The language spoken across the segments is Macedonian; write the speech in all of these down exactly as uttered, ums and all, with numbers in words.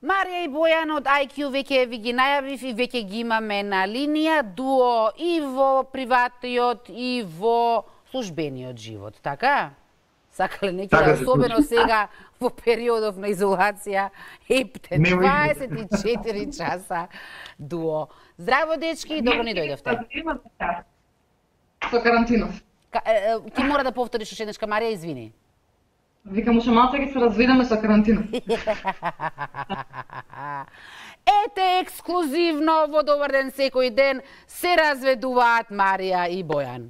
Марија и Бојан од ај кју веќе ви ги најавив и веќе ги имаме на линија, дуо и во приватниот и во службениот живот, така? Сакале неќе, така, особено сега во периодов на изолација, епте дваесет и четири часа дуо. Здраво, дечки, добро ни дојдовте. Со карантинов. Ти мора да повториш уште еднашка, Марија, извини. Викам, уште малце ќе се разведеме со карантинов. Ете, ексклузивно во Добар ден секој ден се разведуваат Марија и Бојан.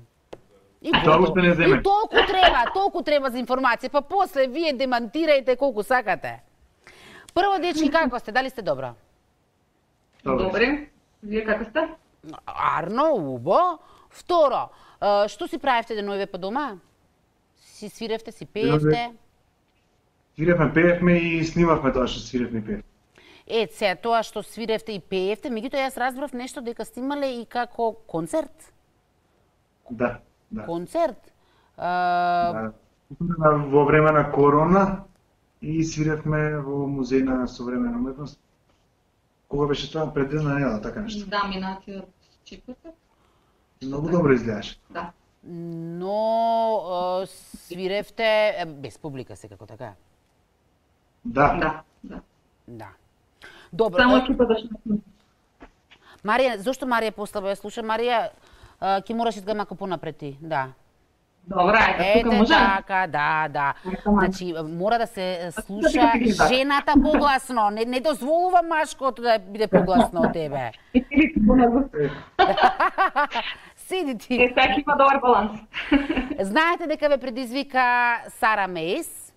И, и толку треба, толку треба за информација, па после вие демантирајте колку сакате. Прво, дечки, како сте? Дали сте добро? Добре. Вие како сте? Арно, убо. Второ, што си правевте деновиве по дома? Си свиревте, си пеевте? Свиревме, пеевме и снимавме тоа што свиревме и пеевме. Е, се, тоа што свиревте и пеевте, меѓутоа јас разбрав нешто дека сте имале и како концерт? Да, да. Концерт? Да. Во време на корона и свиревме во Музеј на современа уметност. Кога беше тоа? Пред една недела, така нешто. Да, минатиот четврток. Многу добро изгледаш. Да. Но свиревте без публика секако, така? Да. Да, да. Да. Добро. Само екипата што. Марија, зошто Марија послаба ја слуша? Марија, ќе мораш да малку понапред ти, да. Добра, е, тука може. Така, да, да. Значи, мора да се слуша жената погласно. Не, не дозволува машкото да биде погласно од тебе. Седи ти. Е, така има добар баланс. Знаете дека ве предизвика Сара Мейс?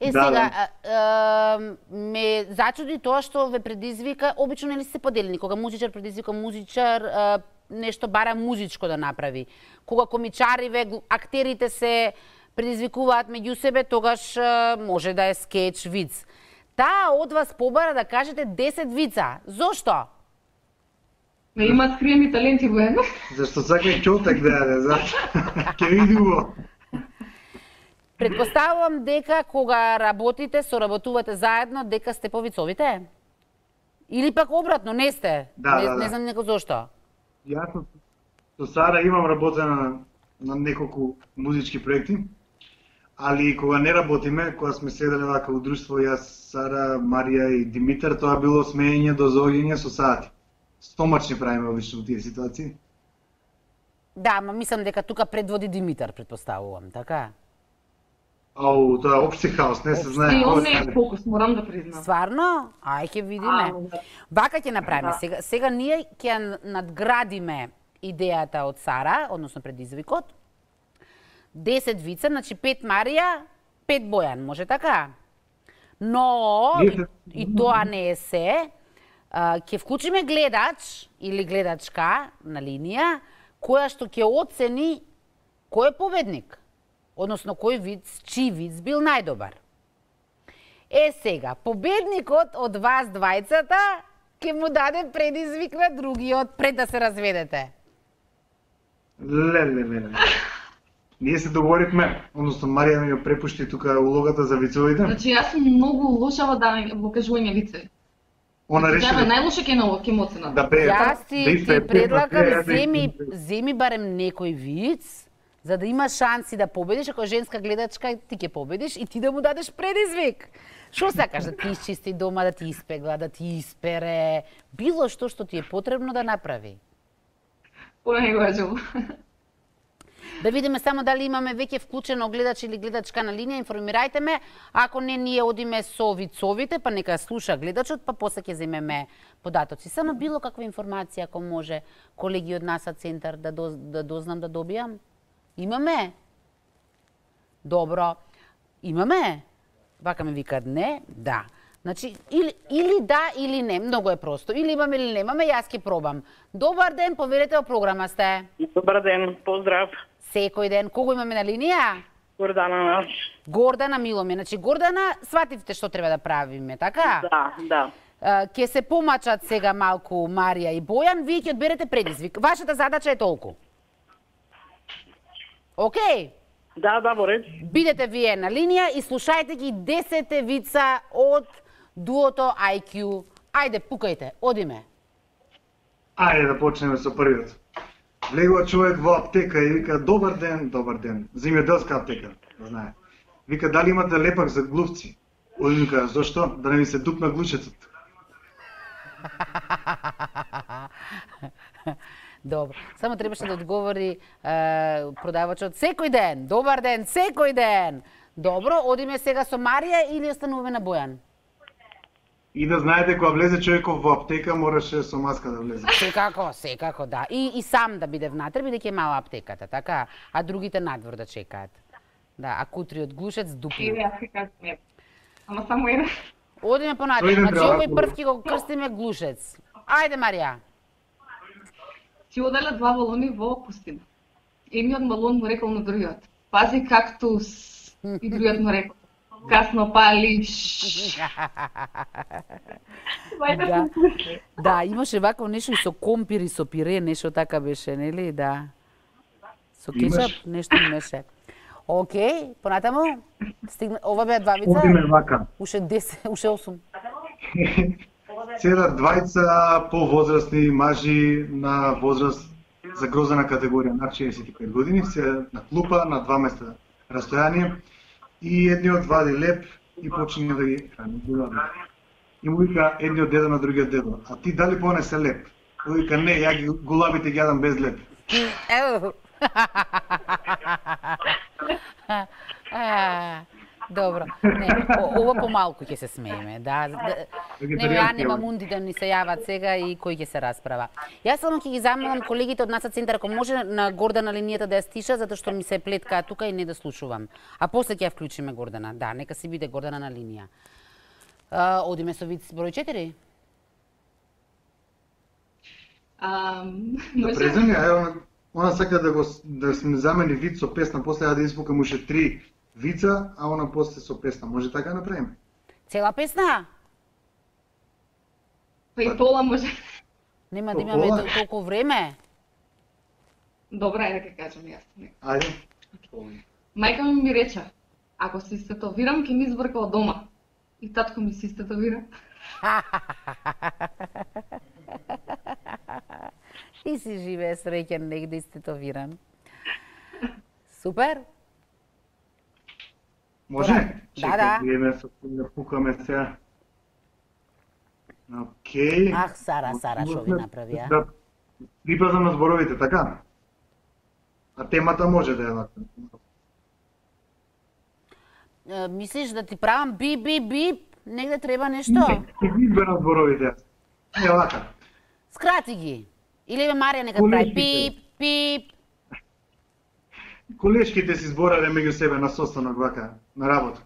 Е, да, сега, да. е, ме зачуди тоа што ве предизвика, обично нели се поделени, кога музичар предизвика музичар, е, нешто бара музичко да направи. Кога комичариве, актерите се предизвикуваат меѓу себе, тогаш е, може да е скеч, виц. Таа од вас побара да кажете десет вица. Зошто? Не има скриени таленти во едно. Зашто сака и чолтак да јаде, зашто? Ке види уво. Предпоставувам дека кога работите, соработувате заедно, дека сте повицовите? Или пак обратно, не сте? Да, не, да, да. Не знам неко зошто. Јас со Сара имам работена на, на неколку музички проекти, али кога не работиме, кога сме седеле вака у друштво, јас, Сара, Марија и Димитар, тоа било смеење до зоѓење со сати. Стомачни правиме обично во тие ситуации. Да, ма мислам дека тука предводи Димитар, предпоставувам, така? Ау, тоа е општи хаос, не се знае. И он не е фокус, морам да признам. Стварно? Ај ќе видиме. Вака ќе направиме. Да. Сега, сега ние ќе надградиме идејата од Сара, односно предизвикот. десет вица, значи пет Марија, пет Бојан, може така? Но, и, и тоа не е се, ќе вклучиме гледач или гледачка на линија, која што ќе оцени кој е победник. Односно, кој виц, чиј виц бил најдобар. Е, сега, победникот од вас двајцата ќе му даде предизвик на другиот пред да се разведете. Леле, леле. Ние се договоривме, односно Марија ми ја препушти тука улогата за вицовите. Значи, јас сум многу лоша во да во кажување вицеви. Она реши да најлоше ќе на ќе моцена. Да пее. Јас ти, ти предлагам, земи, земи барем некој виц, за да имаш шанси да победиш, ако е женска гледачка, ти ќе победиш и ти да му дадеш предизвик. Што сакаш, да ти изчисти дома, да ти испегла, да ти испере, било што што ти е потребно да направи. Поне го кажувам. Да видиме само дали имаме веќе вклучено гледач или гледачка на линија, информирајте ме. Ако не, ние одиме со вицовите, па нека слуша гледачот, па после ќе земеме податоци. Само било каква информација, ако може, колеги од НАСА центар да, доз, да дознам да добијам. Имаме? Добро. Имаме? Вака ме викат не? Да. Значи, или, или да, или не. Многу е просто. Или имаме, или немаме, јас ќе пробам. Добар ден, поверете во програма сте. Добар ден, поздрав. Секој ден. Кого имаме на линија? Гордана наш. Гордана Миломе. Значи, Гордана, свативте што треба да правиме, така? Да, да. Ке се помачат сега малку Марија и Бојан, вие ќе одберете предизвик. Вашата задача е толку. Океј? Да, да, во ред. Бидете вие на линија и слушајте ги десет вица од дуото ај кју. Ајде, пукајте, одиме. Ајде да почнеме со првиот. Влегува човек во аптека и вика добар ден, добар ден. Земјоделска аптека, знае. Вика дали имате лепак за глувци? Оди вика зошто? Да не ми се дупна глушецот. Добро. Само требаше да одговори е, продавачот секој ден. Добар ден, секој ден. Добро, одиме сега со Марија или остануваме на Бојан? И да знаете, кога влезе човеков во аптека, мораше со маска да влезе. Секако, секако, да. И, и сам да биде внатре, бидејќи е мала аптеката, така? А другите надвор да чекаат. Да, а кутриот глушец дупна. Еве, јас ќе кажам. Ама само еден. Одиме понатаму. Тој не Значи, треба овој да прв ќе го крстиме глушец. Ајде, Марија. Си оделе два балони во пустина. Едниот балон му рекол на другиот: пази кактус. И другиот му рекол: касно палиш. Да. Да, имаше вакво нешто и со компир и со пире, нешто така беше, нели? Да. Со кетчап Имаш. нешто имаше. Океј, понатаму стигна, ова беа два вица. Одиме вака. Уште десет, уште осум. Седат двајца повозрастни мажи на возраст загрозена категорија над шеесет и пет години, се на клупа на два места растојание и едниот вади леп и почине да ги храни гулаби. И му вика едниот дедо на другиот дедо: а ти дали понесе леп? Тој вика не, ја ги гулабите ги јадам без леп. Еу. А, добро. Не, о- ова помалку ќе се смееме, да. да. Не, ја нема мунди да ни се јават сега и кој ќе се расправа. Јас само ќе ги замолам колегите од НАСА центар, ако може на Гордана линијата да ја стиша, затоа што ми се плеткаа тука и не да слушувам. А после ќе ја вклучиме Гордана. Да, нека си биде Гордана на линија. А, одиме со виц број четири. Ам, Да може? преземе, ево, она сака да го да се ми замени виц со песна, после ја да испукам уште три вица, а она после со песна. Може така да направиме? Цела песна? Па и пола може. Нема да имаме Пола? тол- толку време. Добра, ајде ќе кажам јас. Ајде. Мајка ми ми рече: ако се истетовирам, ќе ми избрка од дома. И татко ми се истетовира. И си живее среќен негде истетовиран. Супер. Може? Да, да. Видиме со да пукаме сега. Океј. Ах, Сара, Сара, шо ви направија? Да припазам на зборовите, така? А темата може да е вака. Е, Мислиш да ти правам бип, бип, бип? Негде треба нешто? Ќе ги изберам зборовите. Не вака. Скрати ги. Или бе Марија нека Колешките. прави пип, пип. Колешките си зборале меѓу себе на состанок вака, на работа.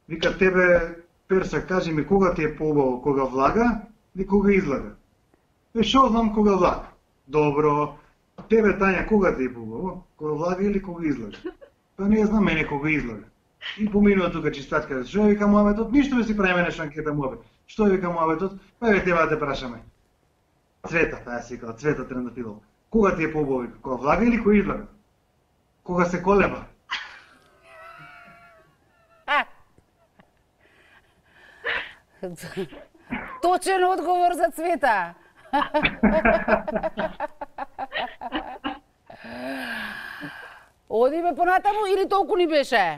Вика тебе, Перса, кажи ми кога ти е поубаво, кога влага или кога излага? Е, шо знам кога влага? Добро. Тебе, Тања, кога ти е поубаво? Кога влага или кога излага? Па не знам мене кога излага. И поминува тука чистачка, што вика муабетот? Ништо да си правиме нешто анкета муабет. Што вика муабетот? Па еве тебе да те прашаме. Цвета, таа си кала, Цвета Трендафилова. Кога ти е поубаво? Кога влага или кога излага? Кога се колеба? Точен одговор за Цвета. Одиме понатаму или толку ни беше?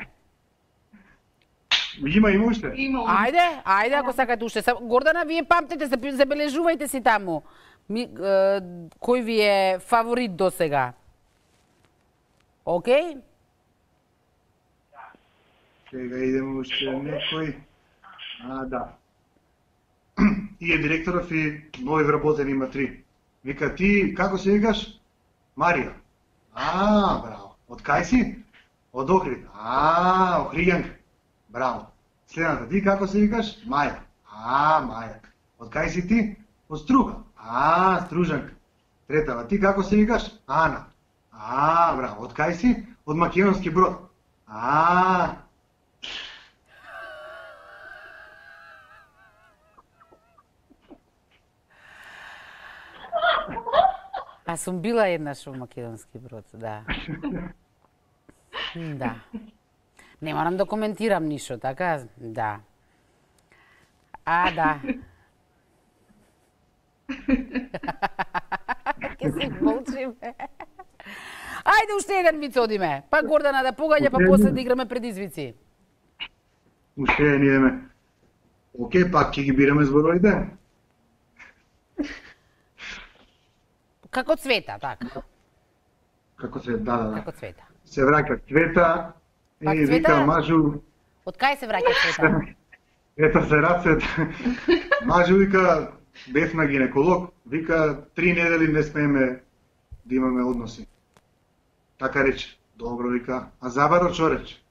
Има, има уште. Има он. Ајде, ајде ако сакате уште. Са- Гордана, вие памтете, забе- забележувајте си таму. Ми, е, кој ви е фаворит до сега? Океј? Сега идеме уште некој. А, да. И е директоров и нови вработени има три. Вика, ти, како се викаш? Марија. А, браво. Од кај си? Од Охрид. А, Охријанка. Браво. Следната, ти како се викаш? Маја. А, Маја. Од кај си ти? Од Струга. А, Стружанка. Третава, ти како се викаш? Ана. А, браво. Од кај си? Од Македонски Брод. А, А сум била еднаш во Македонски Брод, да. Да. Не морам да коментирам ништо, така? Да. А, да. Ке се молчиме. Ајде уште еден виц одиме. Па Гордана да погаѓа, па после да играме предизвици. Уште еден идеме. Океј, пак ќе ги бираме зборовите. Како цвета, така. Како се, да, да, да. Како цвета. Се враќа цвета, Пак и цвета? вика мажу, Од кај се враќа цвета? ето се рацет. Мажу вика, бев на гинеколог, вика, три недели не смееме да имаме односи. Така рече. Добро, вика, а забаро што рече?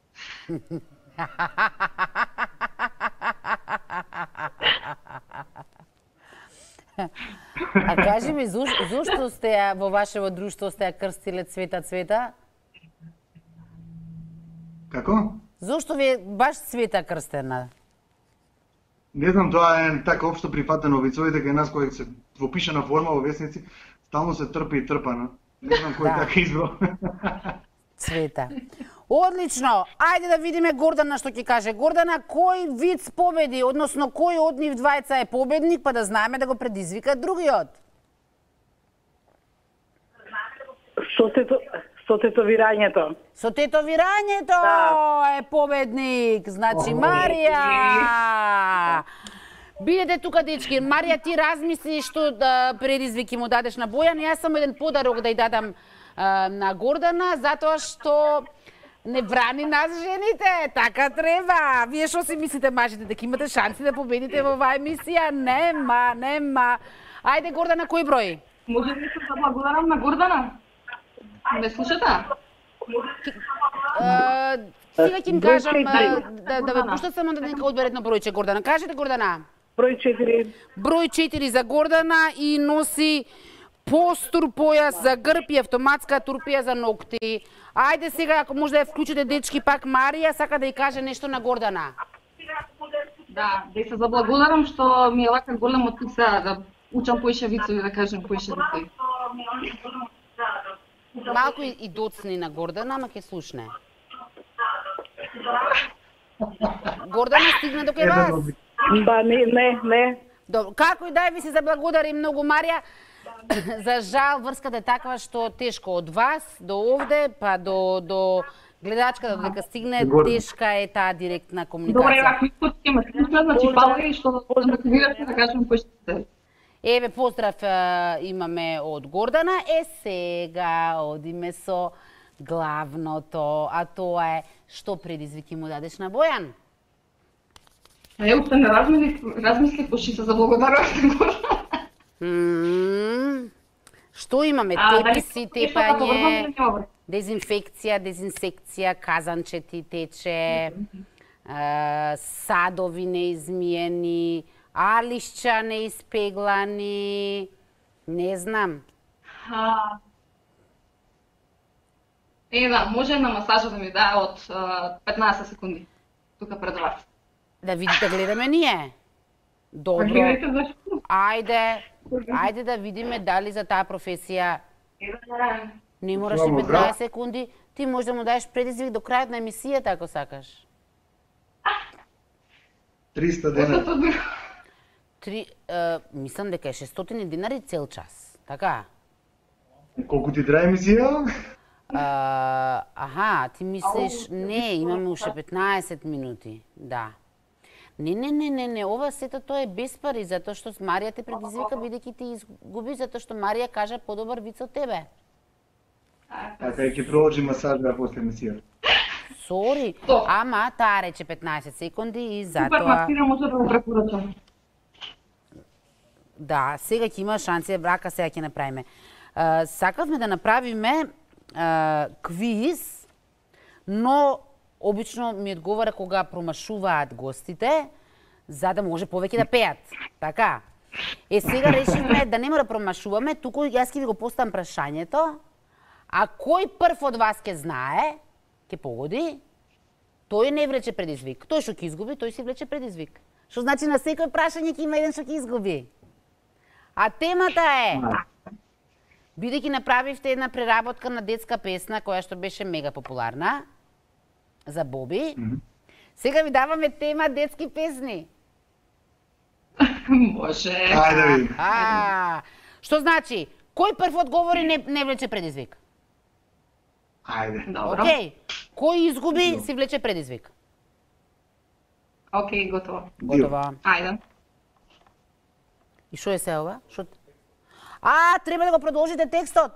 А кажи ми, зош, зошто сте ја во вашево друштво сте ја крстиле Цвета Цвета? Како? Зошто ви е баш Цвета крстена? Не знам, тоа е така општо прифатено вицовите кај нас кој се во пишана форма во весници, стално се трпи и трпана. Не знам кој Да. така избрал. Цвета. Одлично. Ајде да видиме Гордана што ќе каже. Гордана, кој виц победи, односно кој од нив двајца е победник, па да знаеме да го предизвика другиот? Со тето, со тетовирањето. Со тетовирањето Да. е победник. Значи Марија. Бидете тука, дечки. Марија, ти размисли што да предизвики му дадеш на Бојан. Јас само еден подарок да ја дадам а, на Гордана, затоа што не брани нас жените. Така треба. Вие што си мислите, мажите, дека имате шанси да победите во оваа емисија? Нема, нема. Ајде, Гордана, кој број? Може ли се да благодарам на Гордана? Ме слушате? А, сега ќе им Број кажам а, четири. да, да ве пуштат само да нека одберат на бројче, Гордана. Кажете, Гордана. Број четири. Број четири за Гордана и носи постур појас за грб и автоматска турпија за ногти. Ајде сега, ако може да ја вклучите, дечки, пак Марија сака да ја каже нешто на Гордана. Да, да се заблагодарам што ми е вака голем мотив сега да учам поише вицови, да кажем поише вицови. Малку и, и доцни на Гордана, ама ќе слушне. Гордана стигна до кај вас. Ба, не, не, не. Добро, како и да е, ви се заблагодари многу, Марија. За жал, врската е таква што тешко од вас до овде, па до, до гледачката, додека стигне, тешка е таа директна Добре, комуникација. ако искате ќе ме слушнат, значи фала и што да мотивирате да кажем поише вицови. Еве, поздрав е, имаме од Гордана. Е, сега одиме со главното, а тоа е што предизвики му дадеш на Бојан? А ја уште не размислив, размислив, пошто се заблагодарував на Гордана. Мм, што имаме? А, дали Теписи, нешто да го врзам тепање, или нема? дезинфекција, дезинсекција, казанче ти тече, е, садови неизмиени, алишча неиспеглани, не знам. А, Е, да, може на масажа да ми дае од а, петнаесет секунди. Тука пред вас. Да видите, гледаме ние. Добро. Гледайте зашто. Ајде, ајде да видиме дали за таа професија не мораш и Слава, петнаесет секунди, ти може да му даеш предизвик до крајот на емисијата ако сакаш. триста дена. Три, е, мислам дека е шестстотини динари цел час. Така? Колку ти трае емисија? А, аха, ти мислиш, не, имаме уште петнаесет минути. Да. Не, не, не, не, не, ова сето тоа е без пари, затоа што Марија те предизвика бидејќи ти изгуби, затоа што Марија кажа подобар виц од тебе. Така и ќе продолжи масажа после емисија. Сори, Тоа. ама таа рече петнаесет секунди и Супер затоа... мастира, може да го препорачам. Да, сега ќе има шанси, брака, сега ќе направиме. А, сакавме да направиме а, квиз, но обично ми одговара кога промашуваат гостите, за да може повеќе да пеат. Така. Е, сега решивме да нема да промашуваме, туку јас ќе ви го поставам прашањето, а кој прв од вас ќе знае, ќе погоди, тој не влече предизвик. Тој што ќе изгуби, тој си влече предизвик. Што значи на секој прашање ќе има еден што ќе изгуби. А темата е, бидејќи направивте една преработка на детска песна која што беше мега популарна за Боби, сега ви даваме тема детски песни. Може. Ајде да видим. А, што значи? Кој прв одговори не, не влече предизвик? Ајде. Добро. Океј. Кој изгуби си влече предизвик? Океј, готово. Готово. Ајде. И што е се ова? Шо... А, треба да го продолжите текстот.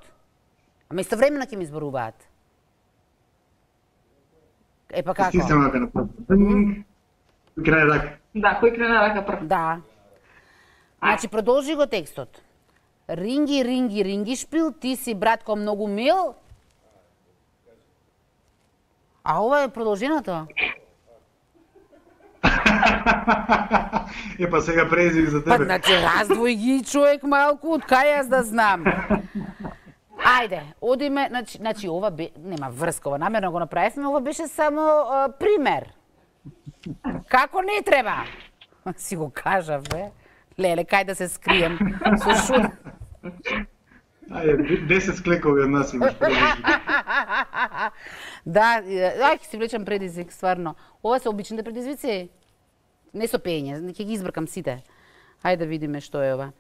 Ама истовремено ќе ми зборуваат. Е па како? Стиснем рака на прв. Крај рака. Да, кој крена рака прв? Да. Значи продолжи го текстот. Ринги, ринги, ринги шпил, ти си братко многу мил. А ова е продолженото. Е, па сега презив за Па, тебе. значи, раздвој ги човек малку, од кај јас да знам. Ајде, одиме, значи, значи ова бе, нема врска, ова намерно го направивме, ова беше само а, пример. Како не треба? Си го кажав, бе. Леле, кај да се скрием? Со шут. Ајде, десет склекови од нас имаш предизвик. Да, ај ќе си влечам предизвик, стварно. Ова се обичните предизвици? Не со пење, ќе ги избркам сите. Ајде да видиме што е ова.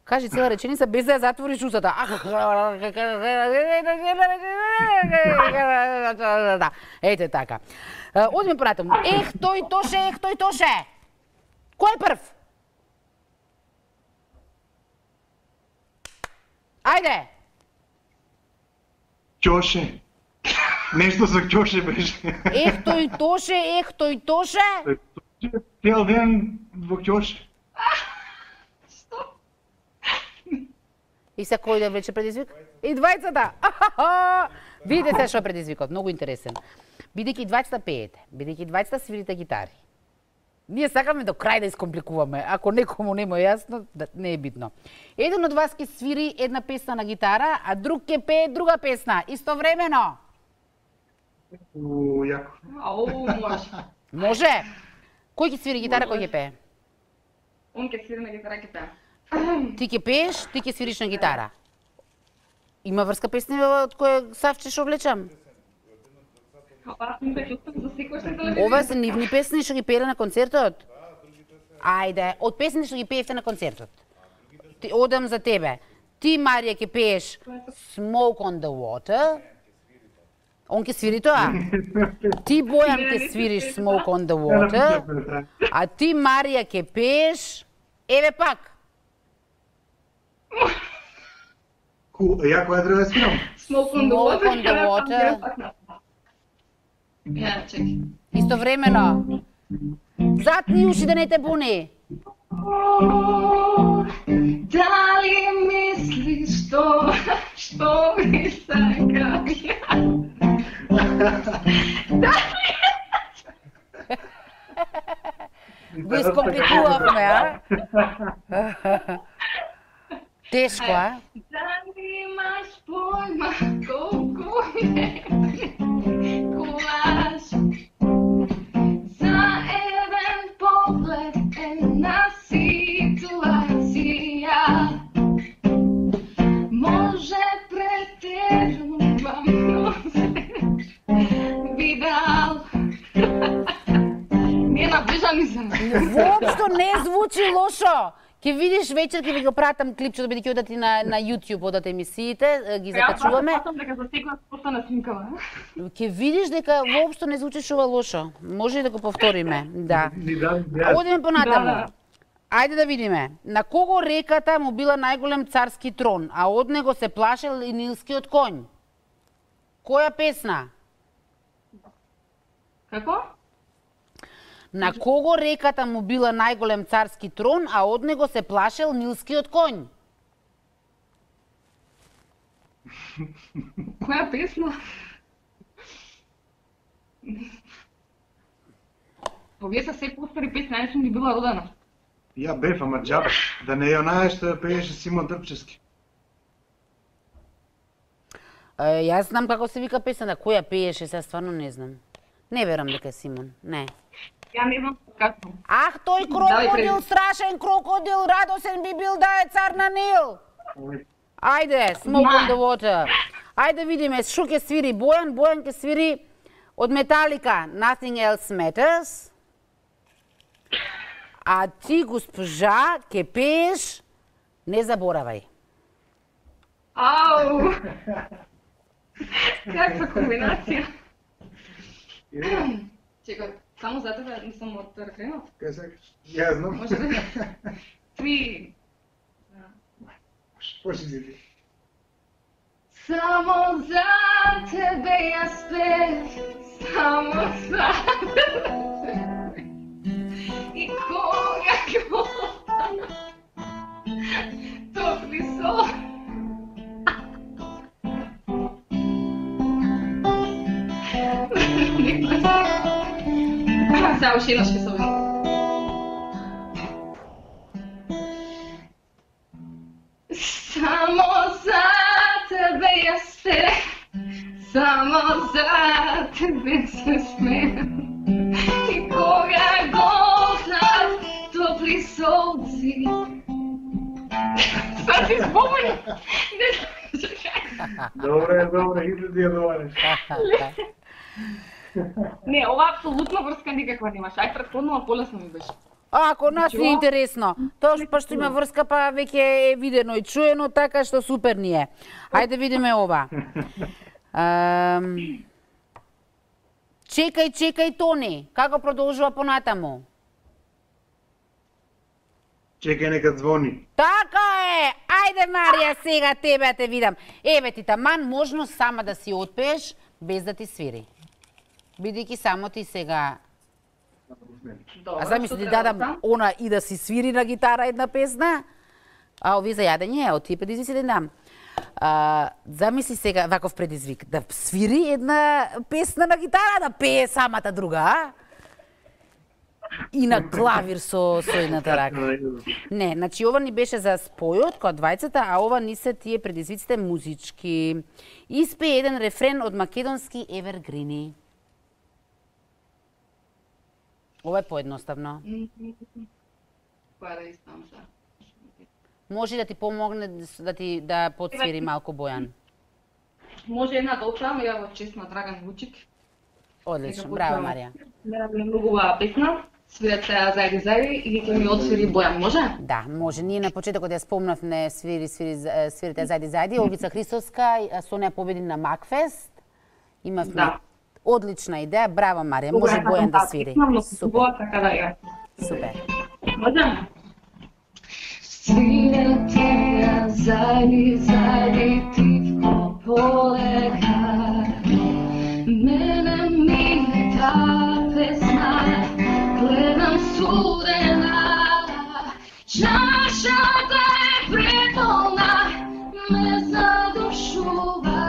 Кажи цела реченица без да ја затвориш устата. Ете така. Одиме понатаму. Ех, тој тоше, ех, тој тоше. Кој е прв? Ајде. Ќоше. Нешто со ќоше беше. Ех, тој тоше, ех, тој тоше. Цел ден во ќоше. И се кој да влече предизвик? И двајцата. Видите што е предизвикот, многу интересен. Бидејќи двајцата пеете, бидејќи двајцата свирите гитари. Ние сакаме до крај да искомпликуваме. Ако некому не му е јасно, да, не е битно. Еден од вас ќе свири една песна на гитара, а друг ќе пее друга песна, истовремено. У, јако. Ау, може. Може? Кој ќе свири гитара, кој ќе пее? Он ќе свири на гитара, ќе пее. Ти ќе пееш, ти ќе свириш на гитара. Има врска песни од која Савче што влечам? Ова сум да чувствам за секој што телевизија. Ова се нивни песни што ги пееле на концертот? Ајде, од песните што ги пеевте на концертот. Ти, одам за тебе. Ти, Марија, ќе пееш Smoke on the Water. Он ќе свири тоа. Ти, Бојан, ќе свириш Smoke on the Water. А ти, Марија, ќе пееш... Еве пак. Ку, ја која треба да свирам? Smoke on the Smoke water. on the water. Ја, чекай. Истовремено. Затни уши да не те буни. Дали мислиш што, што ми сакам ја? Дали... Го искомпликувавме, а? Тешко, а? Дали имаш појма колку ме куваш? За еден поглед една ситуација може претерувам, но се видал. Не наближам и за Воопшто не звучи лошо. Ке видиш вечер, ке ви го пратам клипчето, бидејќи одат и на, на YouTube, одат емисиите, ги закачуваме. Јас дека за секој постана снимкава. Ке видиш дека воопшто не звучиш ова лошо. Може и да го повториме, да. Одиме понатаму. Ајде да видиме. На кого реката му била најголем царски трон, а од него се плашел и нилскиот конј? Која песна? Како? На кого реката му била најголем царски трон, а од него се плашел нилскиот конј? Која песна? Овие се се постари песни, ја не сум ни била родена. Ја бев, ама џабе. Да не ја онаја што пееше Симон Трпчевски. Е, јас знам како се вика песната, која пееше, сега стварно не знам. Не верам дека е Симон, не. Ја не знам како. Ах, тој крокодил, страшен крокодил, радосен би бил да е цар на Нил. Ајде, Smoke on the Water. Ајде видиме, шо ќе свири Бојан, Бојан ќе свири од Металика, Nothing Else Matters. А ти, госпожа, ке пееш, не заборавај. Ау! Каква комбинација. Чекај, само за тебе нисам од рефренот. Кај сакаш? Ја знам. Може да? Три. Почни ти. Само за тебе јас пеев, само за тебе. И кога гледам топли сон. Сега уште еднаш ќе се обидам. Само за тебе јас пеев, само за тебе се смеем. И кога гледам топли сонци. Sad si zbunjen. Ne znam, čekaj. Добре, добре, иди ти ја довариш. Не, ова апсолутно врска никаква немаш. Ај претходно полесно ми беше. А, ако нас не е интересно. Тоа па што има врска, па веќе е видено и чуено, така што супер ни е. Ајде видиме ова. Ам... Чекај, чекај, Тони. Како продолжува понатаму? Чекај нека звони. Така е! Ајде, Марија, сега тебе те видам. Еве ти таман можност сама да си отпееш без да ти свири. Бидејќи само ти сега... А замисли ти дадам она и да си свири на гитара една песна, а ови за јадење, од тие предизвици да дам. А, замисли сега ваков предизвик, да свири една песна на гитара, да пее самата друга, а? И на клавир со со едната рака. Не, значи ова ни беше за спојот кој двајцата, а ова ни се тие предизвиците музички. Испее еден рефрен од македонски евергрини. Ова е поедноставно. Која да испам за? Може да ти помогне да ти да подсвири малку Бојан. Може една да опрам, ја во чест на Драган Вучик. Одлично, браво, Марија. Ми многу убава песна, свират се зајди зајди и ќе ми отсвири Бојан, може? Да, може. Ние на почетокот ја спомнав не свири, свири, свирите зајди зајди. Олгица Христовска со неа победи на Макфест. Имавме Да. одлична идеја. Браво, Марија. Може Бојан да свири. Супер. Така да ја. Супер. Може? Свирате ја зајди зајди тивко полека. Мене ми та песна, гледам студена, чашата е преполна, ме задушува.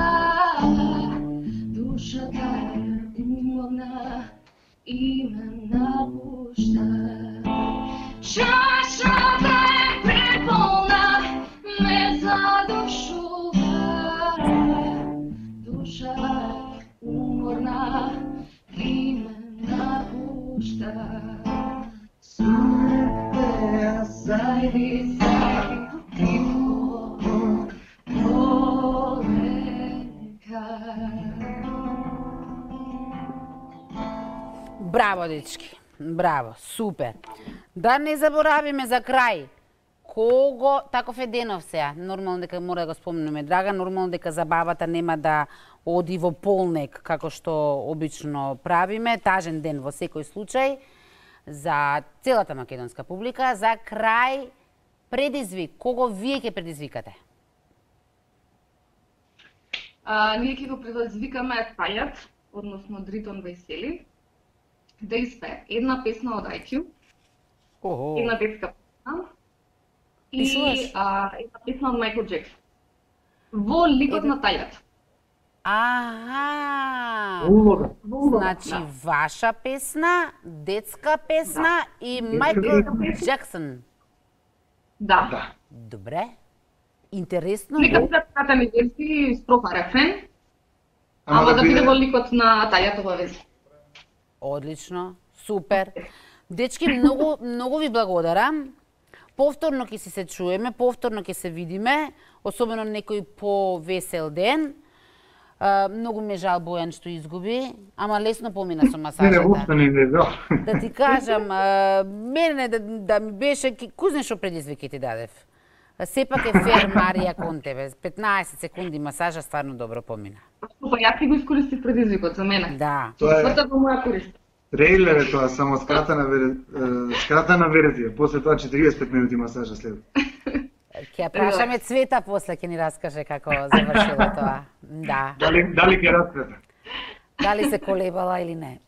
Душата е уморна и ме напушта. Чашата е преполна, ме задушува. Душа уморна и ме напушта. Свирте зајди зајди тихо полека. Браво, дечки. Браво, супер. Да не заборавиме за крај. Кого таков е денов сега? Нормално дека мора да го спомнеме Драга, нормално дека забавата нема да оди во полнек како што обично правиме, тажен ден во секој случај за целата македонска публика. За крај предизвик, кого вие ќе предизвикате? А, ние ќе го предизвикаме Тајат, односно Дритон Весели, да испее една песна од ај кју, Охо. една детска песна и Пишуваш? а, една песна од Майкл Джексон. Во ликот на Тајат. Аха. Улога. Значи ваша песна, детска песна и Майкл Джексон. Да. Да. Добре. Интересно. Нека бидат ми версии строфа рефрен, Ама ама да да биде биде- во ликот на Тајатова верзија. Одлично, супер. Дечки, многу, многу ви благодарам. Повторно ќе си се чуеме, повторно ќе се видиме, особено некој повесел ден. А, многу ме жал Бојан што изгуби, ама лесно помина со Не, не, масажата. воопшто не е жал. Да ти кажам, а, мене да, да ми беше, кузне што предизвики ти дадев. Сепак е фер Марија кон тебе. петнаесет секунди масажа стварно добро помина. Па ја ти го искористив предизвикот за мене. Да. Тоа е Сврта во моја корист. трейлер е тоа, само скратена вер... е, скратена верзија. После тоа четириесет и пет минути масажа след. Ќе ја прашаме Цвета после ќе ни раскаже како завршило тоа. Да. Дали дали ќе распрета? Дали се колебала или не.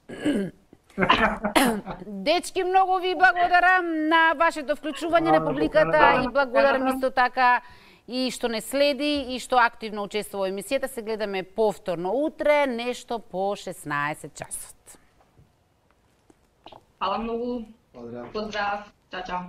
Дечки, многу ви благодарам на вашето вклучување на публиката и благодарам исто така и што не следи и што активно учествува во емисијата. Се гледаме повторно утре, нешто по шеснаесет часот. Фала многу. Поздрав. Поздрав. Чао, чао.